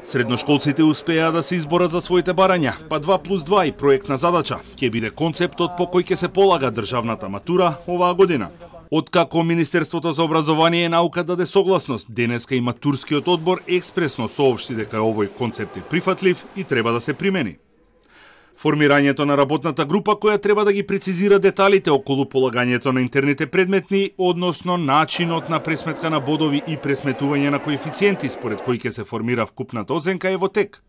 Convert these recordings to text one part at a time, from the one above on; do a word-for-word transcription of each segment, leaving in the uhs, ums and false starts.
Средношколците успеа да се изборат за своите барања, па два плюс два и проектна задача ќе биде концептот по кој ќе се полага државната матура оваа година. Откако Министерството за образование и наука даде согласност, денеска и матурскиот одбор експресно соопшти дека овој концепт е прифатлив и треба да се примени. Формирањето на работната група која треба да ги прецизира деталите околу полагањето на интерните предметни, односно начинот на пресметка на бодови и пресметување на коефициенти според кои ќе се формира вкупната оценка е во тек.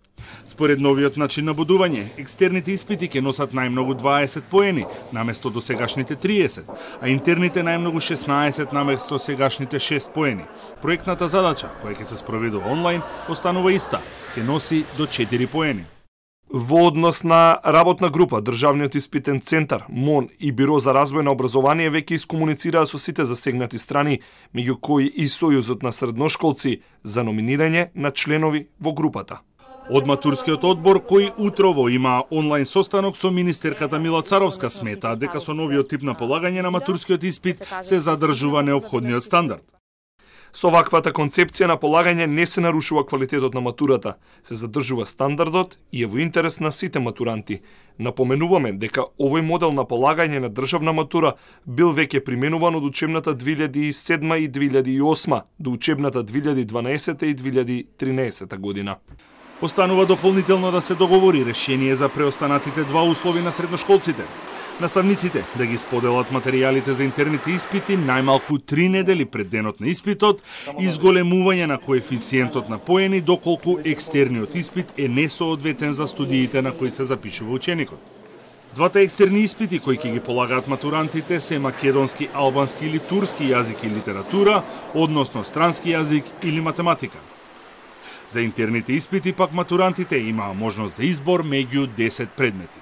Според новиот начин на бодување, екстерните испити ќе носат најмногу дваесет поени, наместо досегашните триесет, а интерните најмногу шеснаесет наместо сегашните шест поени. Проектната задача, која ќе се спроведува онлайн, останува иста, ќе носи до четири поени. Во однос на работна група, Државниот испитен центар, МОН и Биро за развој на образование веќе искомуницираа со сите засегнати страни, меѓу кои и Сојузот на средношколци, за номинирање на членови во групата. Од матурскиот одбор, кој утрово има онлайн состанок со министерката Мила Царовска, смета дека со новиот тип на полагање на матурскиот испит се задржува неопходниот стандард. Со ваквата концепција на полагање не се нарушува квалитетот на матурата, се задржува стандардот и е во интерес на сите матуранти. Напоменуваме дека овој модел на полагање на државна матура бил веќе применуван од учебната две илјади и седма и две илјади и осма до учебната две илјади и дванаесета и две илјади и тринаесета година. Останува дополнително да се договори решение за преостанатите два услови на средношколците. Наставниците да ги споделат материјалите за интерните испити најмалку три недели пред денот на испитот и зголемување на коефициентот на поени доколку екстерниот испит е несоодветен за студиите на кои се запишува ученикот. Двата екстерни испити кои ќе ги полагаат матурантите се македонски, албански или турски јазик и литература, односно странски јазик или математика. За интерните испити пак матурантите имаа можност за избор меѓу десет предмети.